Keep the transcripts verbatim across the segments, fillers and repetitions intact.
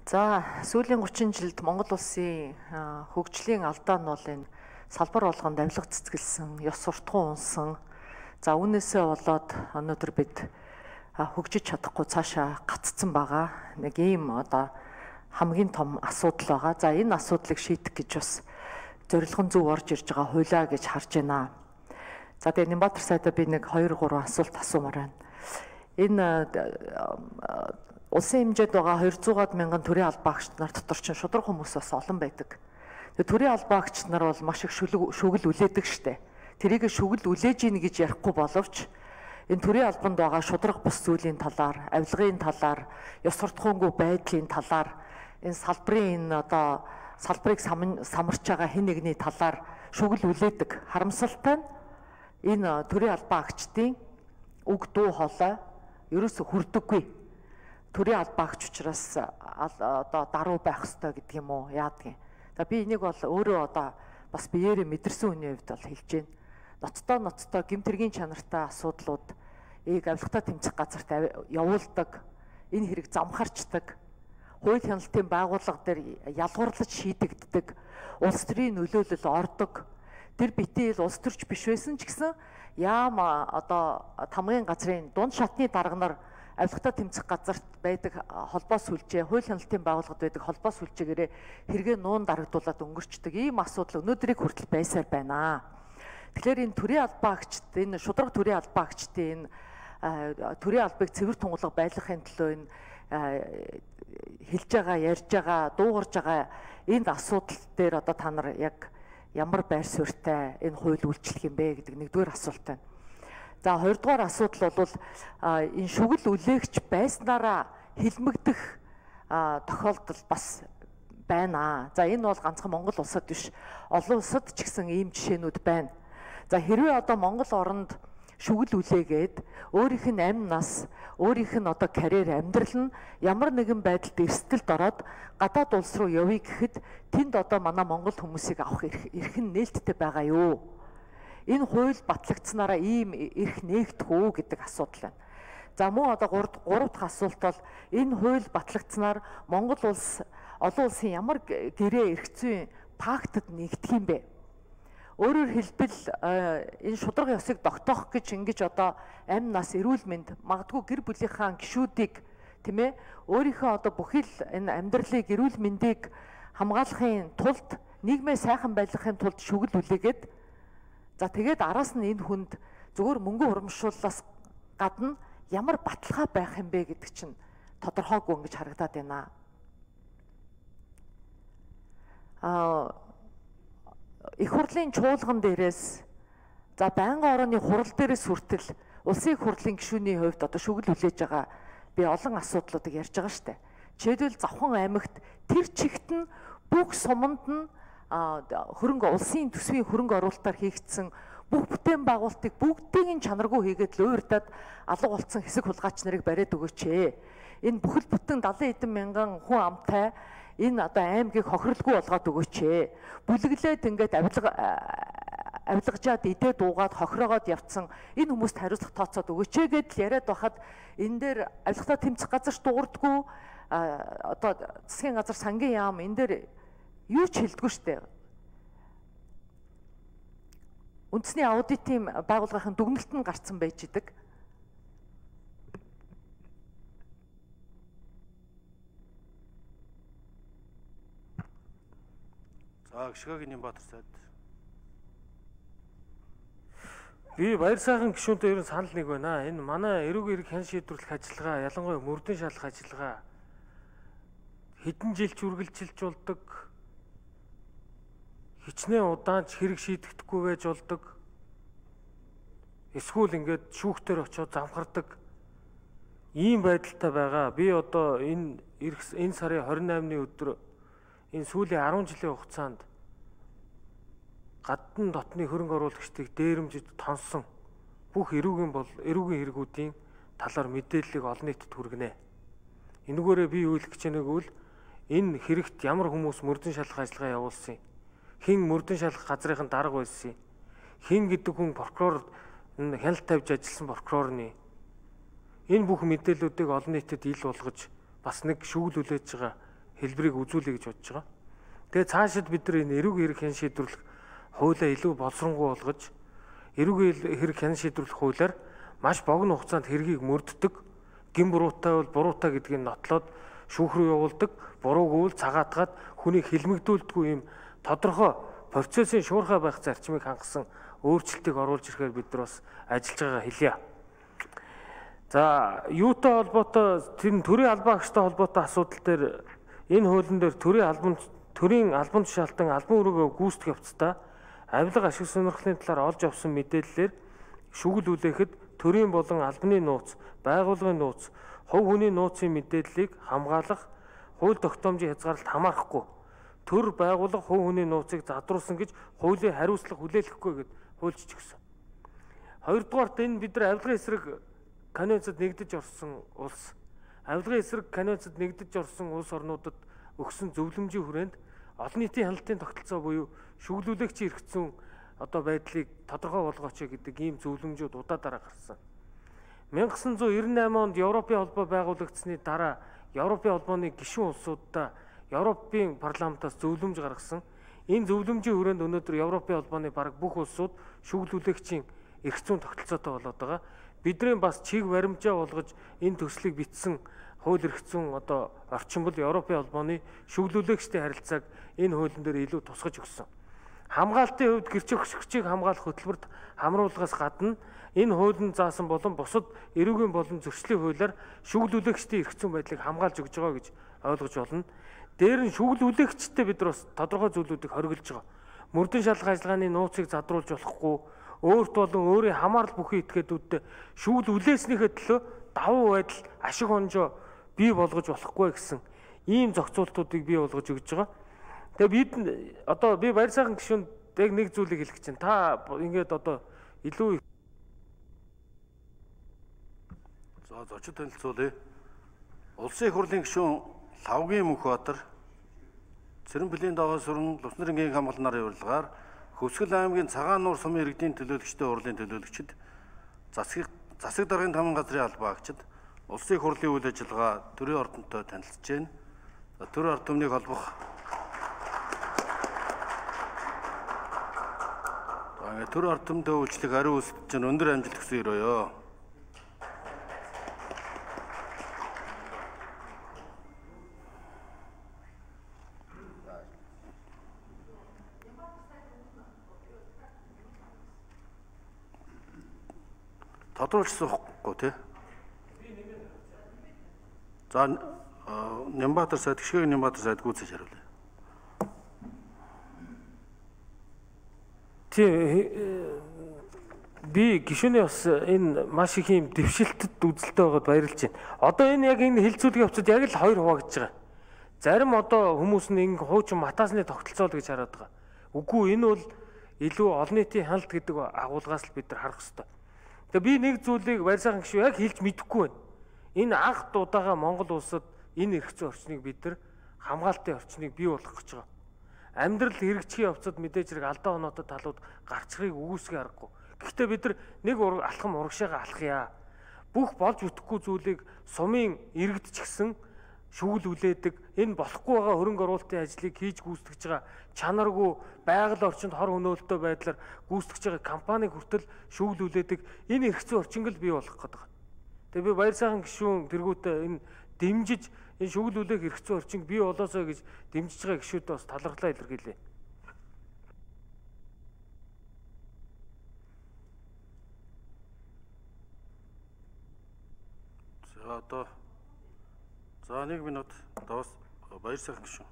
За сүүлийн гучин жилд Монгол улсын хөгжлийн алдаа нь бол энэ салбар болгонд авилга цэцгэлсэн, ёс суртахуун унсан. За үүнээсээ болоод өнөөдөр бид хөгжиж чадахгүй цаашаа гаццсан байгаа. Нэг ийм одоо хамгийн том асуудал байгаа. За энэ асуудлыг шийдэх гэж бас зорилгон зөв орж ирж байгаа хуулиа гэж харж байна. За тэгээ Нямбатар сайдаа би нэг хоёр гурван асуулт асуумаар байна. Энэ улсын хэмжээнд байгаа двухсад мянган төрийн албаагч нар дотор ч шудраг хүмүүс бас олон байдаг. Тэгээ төрийн албаагч нар бол маш их шүгэл үлээдэг штэ. Тэрийг шүгэл үлээж ийн гэж ярихгүй боловч энэ төрийн албанд байгаа шудраг бус зүйлийн талаар, авилгын талаар, ёс суртахуунгүй байдлын талаар, энэ салбарын энэ одоо салбарыг самарч байгаа хэн нэгний талаар шүгэл үлээдэг. Харамсалтай нь энэ төрийн албаагчдын үг дуу хоолой ерөөсө хүрдэггүй. Төрийн албаагч учраас одоо даруй байх ёстой гэдэг юм уу яадгийн. За би энийг бол өөрөө одоо бас биеэрээ мэдэрсэн хүний хувьд бол хэлж байна. Ноцтой ноцтой гэмтэргийн чанартай асуудлууд ээг авилгатай тэмцэх газарт явуулдаг, энэ хэрэг замхарчдаг, хууль хяналтын байгууллага дээр ялгуурлаж шийдэгддэг, улс төрийн нөлөөлөл ордог. Тэр битээ улс төрч биш байсан ч гэсэн яам одоо тамгын газрын дунд шатны дарга нар авилгатай тэмцэх газарт байдаг холбоо сүлжээ, хууль хяналтын байгууллагад байдаг холбоо сүлжээгээрээ хэрэгээ нуун дарагдуулаад өнгөрчдөг ийм асуудал өнөөдрийг хүртэл байсаар байна. Тэгэхээр энэ төрийн албаагчд, энэ шудраг төрийн албаагчдын энэ төрийн албыг цэвэр тунгалаг байлгахын төлөө энэ хэлж байгаа, ярьж байгаа, дуугарж байгаа энэ асуудал дээр одоо та нар яг ямар байр суурьтай энэ хууль үйлчлэх юм бэ гэдэг нэгдүгээр асуулт байна. За хоёрдугаар асуудал бол энэ шүгэл үлээгч байснараа хилмигдэх тохиолдол бас байна. За энэ бол ганцхан Монгол улсад биш, олон улсад ч гэсэн ийм жишээнүүд байна. За хэрвээ одоо Монгол оронд шүгэл үлээгээд өөрийнх нь амь нас, өөрийнх нь одоо карьер, амьдрал нь ямар нэгэн байдалд эрсдэлд ороод гадаад улс руу явъя гэхэд тэнд одоо манай Монгол хүмүүсийг авах эрх нь нээлттэй байгаа юу? Энэ хууль батлагдсанараа ийм эрх нээгдэх үү гэдэг асуудал байна. За мөн одоо гурав дахь асуулт бол энэ хууль батлагдсанаар Монгол улс олон улсын ямар гэрээ эрх зүйн пактад нэгдэх юм бэ? Өөрөөр хэлбэл энэ шудраг ёсыг тогтоох гэж ингэж одоо амь нас, эрүүл мэнд, магадгүй гэр бүлийнхаа гишүүдийг тийм ээ өөрийнхөө одоо бүхэл энэ амьдралыг, эрүүл мэндийг хамгаалахын тулд, нийгмээ сайхан байлгахын тулд шүгэл үлээгээд за тэгээд араас нь энэ хүнд зөвхөн мөнгө урамшууллаас гадна ямар баталгаа байх юм бэ гэдэг чинь тодорхойгүй ингэж харагдаад байна. Аа их хурлын чуулган дээрээс за байнгын орооны хурал дээрээс хүртэл улсын их хурлын гишүүний хувьд одоо шүгэл үлээж байгаа би олон асуудлуудыг ярьж байгаа штэ. Жишээлбэл Завхан аймагт тэр чигт нь бүх суманд нь хөрөнгө улсын төсвийн хөрөнгө оруулалтаар хийгдсэн бүх бүтээн байгуулалтыг бүгдийг нь чанаргүй хийгээд л уурдаад алга болцсон хэсэг хулгайч нарыг бариад өгөөч ээ. Энэ бүхэл бүтэн далайн эдэн мянган хүн амтай энэ одоо аймгийг хохирлгүй болгоод өгөөч ээ. Бүлэглээд ингээд авилга авилгажаад идээ дуугаад хохироогоод явцсан энэ хүмүүст хариуцлага тооцоод өгөөч ээ гэдэл яриад байхад энэ дээр авилгатай тэмцэх газар дуурдгүй одоо засгийн газар сангийн яам энэ дээр юу ч хэлдэггүй штэ. Үндэсний аудитын байгууллагын дүгнэлт нь гарцсан байж идэг. За гişгөөгийн Нямбатар сайд. Би баяр сайхан гишүүнтэй ерөн санал нэг байна. Энэ манай эрүүг эрэг хэн шийдвэрлэх ажиллагаа, ялангуяа мөрдөн шалах ажиллагаа хэдэн жил үргэлжилж болдог. Хичнээн удаан ч хэрэг шийдэгдэхгүй байж болдог. Эсвэл ингээд шүүхтэр очиод замхардаг. Ийм байдалтай байгаа. Би одоо энэ энэ сарын хорин наймны өдөр энэ сүүлийн арван жилийн хугацаанд гадны дотны хөрөнгө оруулагчдыг дээрэмжид тонсон бүх эрүүгийн бол эрүүгийн хэрэгүүдийн талаар мэдээллийг олон нийтэд хүргэнэ. Энэгээрээ би юу хэлэх гэж байгааг бол энэ хэрэгт ямар хүмүүс мөрдөн шалах ажиллагаа явуулсан, хэн мөрдөн шалах газрын дарга байсан, хэн гэдэг хүн прокурор хяналт тавьж ажилласан прокурорны энэ бүх мэдээллүүдийг олон нийтэд ил болгож бас нэг шүүл үлээж байгаа хэлбэрийг үзүүлэе гэж бодож байгаа. Тэгээ цаашид бид нар энэ эрүүг хэрэг хэн шийдвэрлэх хуулиа илүү боловсронгуй болгож эрүүг хэрэг хэн шийдвэрлэх хуулиар маш богино хугацаанд хэргийг мөрддөг, гин буруутай бол буруутай гэдгийг нотлоод шүүх рүү явуулдаг, бурууг үйл цагаатгаад хүнийг хилмигдүүлдэггүй юм тодорхой процессын шуурхай байх зарчмыг хангасан өөрчлөлтийг оруулж ирэхээр бид нар бас ажиллаж байгаа хэлье. За, юутай холбоотой тэр төрийн албан агчтай холбоотой асуудал дээр энэ хуулийн дээр төрийн албан төрийн албан тушаалтан албан өрөөгөө гүйцэтгэх явцдаа авилга ашиг сонирхлын талаар олж авсан мэдээллээр шүгэл үлээхэд төрийн болон албаны нууц, байгууллагын нууц, хувь хүний нууцын мэдээллийг хамгаалах хууль тогтоомжийн хязгаарлалт хамаарахгүй төр байгууллага хувь хүний нууцыг задруулсан гэж хуулийн хариуцлага хүлээлгэхгүй гэд хуульчж өгсөн. Хоёрдугаарт энэ бид нар авилгын эсрэг конвенцэд нэгдэж орсон улс, авилгын эсрэг конвенцэд нэгдэж орсон улс орнуудад өгсөн зөвлөмжийн хүрээнд олон нийтийн хяналтын тогтолцоо буюу шүглүүлэгчийн эрх зүйн одоо байдлыг тодорхой болгооч гэдэг ийм зөвлөмжүүд удаадараа гарсан. 천구 девяносто восемь онд Европын холбоо байгуулагдсны дараа Европын холбооны гишүүн улсуудаа Европын парламентаас зөвлөмж гаргасан. Энэ зөвлөмжийн хүрээнд өнөөдөр Европын холбооны бараг бүх улсууд шүглүүлэгчийн эрх зүйн тогтолцоотой болоод байгаа. Бидний бас чиг баримжаа болгож энэ төслийг бичсэн хууль эрх зүйн одоо орчин бол Европын холбооны шүглүүлэгчтэй харилцааг энэ хуулийн дээр илүү тусгаж өгсөн. Хамгаалтын хувьд гэрч өгчийг хамгаалах хөтөлбөрт хамруулгаас гадна энэ хуулийн заасан болон бусад эрүүгийн болон зөрчлийн хуулиар шүглүүлэгчдийн эрх зүйн байдлыг хамгаалж өгж байгаа гэж ойлгож болно. Дээр нь шүглүүлэгчтэй бид нар бас тодорхой зүйлүүдийг хориглож байгаа. Мөрдөн шалгах ажиллагааны нууцыг задруулж болохгүй, өөрт болон өөрийн хамаарал бүхий этгээдүүдтэй шүүл үлээснийхээ төлөө давуу байдал ашиг хонжоо бий болгож болохгүй гэсэн ийм зохицуултуудыг бий болгож өгж байгаа. Тэгээ бид одоо би баяр сайхан гишүүнд яг нэг зүйлийг хэлэх чинь та ингээд одоо илүү за зочид танилцуулъя. Улсын их хурлын гишүүн Лавгийн Мөнхбаатар Цэрэнбэлийн даваа сүрэн Лувснэрэнгийн хамгаалнаар явуулгаар Хөвсгөл аймгийн Цагаан нуур сумын иргэдийн төлөөлөгчтэй урлын төлөөлөгчд засаг засаг даргын таман газрын албан агчид улсын их хурлын үйл ажиллагаа төрийн ордонтой танилцж байна. Төрийн ард түмнийг холбох төрийн ард түмтэй үйлчлэх ариун үсэлт чинь өндөр амжилт өгсөн өрөөё. Тодруулсан байхгүй тий. За Нямбатар сайд гişгэн Нямбатар сайд гүйцэж хариулъя. Тий би гишүүний бас энэ маш их юм дэвшилтэд үзэлтэй байгаад баярлж байна. Одоо энэ яг энэ хилцүүлгийн явцад яг л хоёр хуваагдж байгаа. Зарим одоо хүмүүс нь ингэ хуучин матаасны тогтолцоо л гэж хараад байгаа. Үгүй энэ бол илүү олон нийтийн хяналт гэдэг агуулгаас л бид нар харах хэрэгтэй. Тэгээ би нэг зүйлийг баяр сайхан гишүү яг хэлж мэдэхгүй байна. Энэ анх удаага Монгол улсад энэ эрх зүйн орчныг бид нар хамгаалтын орчныг бий болгох гэж байгаа. Амьдрал хэрэгжих явцад мэдээж хэрэг алдаа оноотой талууд гарчхыг үгүйсгээ аргагүй. Гэхдээ бид нар нэг алхам урагшаага алхъя. Бүх болж бүтэхгүй зүйлийг сумын иргэд ч гэсэн шүүл үлээдэг, энэ болохгүй байгаа хөрөнгө оруулалтын ажлыг хийж гүйцэтгэж байгаа чанаргүй байгаль орчинд хор хөнөөлтөй байдлаар гүйцэтгэж байгаа компани хүртэл шүүл үлээдэг энэ эрх зүйн орчинг л бий болох гэдэг. Тэгээ би баяр сайхан гишүүн тэргүүтээ энэ дэмжиж энэ шүүл үлээх эрх зүйн орчинг бий болоосоо гэж дэмжиж байгаа гишүүдэд бас талархлаа илэрхийлье. За одоо за нэг минут давс баяр сайхан гишүүн.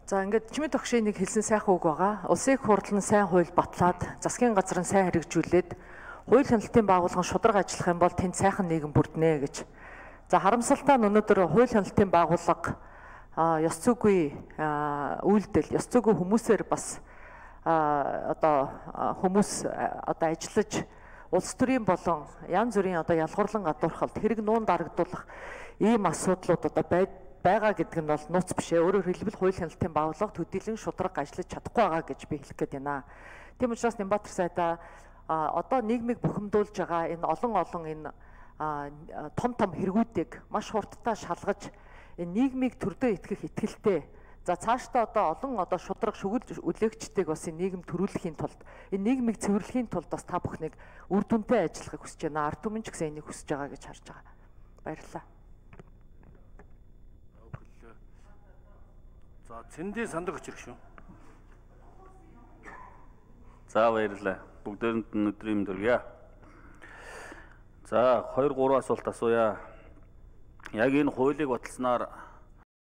За ингээд чимэд огшийн нэг хэлсэн сайхан үг байгаа. Улсын их хурл нь сайн хууль батлаад, засгийн газар нь сайн хэрэгжүүлээд, хууль хяналтын байгууллага шударга ажиллах юм бол тэнд сайхан нийгэм бүрднэ гэж. За харамсалтай нь өнөөдөр хууль хяналтын байгууллага ёс зүйгүй үйлдэл, ёс зүйгүй хүмүүсээр бас одоо хүмүүс одоо ажиллаж улс төрийн болон янз бүрийн одоо ялгуурлан гадуурхалд хэрэг нуун дарагдуулах ийм асуудлууд одоо байгаа гэдэг нь бол нууц биш ээ. Өөрөөр хэлбэл хууль хяналтын байгууллага төдийлөн шударга ажиллаж чадахгүй байгаа гэж би хэлэх гээд байна. Тийм учраас Нямбатар сайдаа одоо нийгмийг бухимдуулж байгаа энэ олон олон энэ том том хэрэгүүдийг маш хурдтай шалгаж энэ нийгмийг төрдөө итгэх итгэлтэй. За цаашдаа одоо олон одоо шудраг шүгэл үлээгчтэйг бас энэ нийгэм төрүүлэхийн тулд энэ нийгмийг цэвэрлэхийн тулд бас та бүхнийг үр дүнтэй ажиллахыг хүсэж байна. Ард түмэн ч гэсэн энийг хүсэж байгаа гэж харж байгаа. Баярлалаа. За цэндийн сандаг очирх шүү. За баярлалаа. Бүгдээрэнд нь өдрийн мэнд хүргье. За хоёр гурван асуулт асууя. Яг энэ хуулийг баталснаар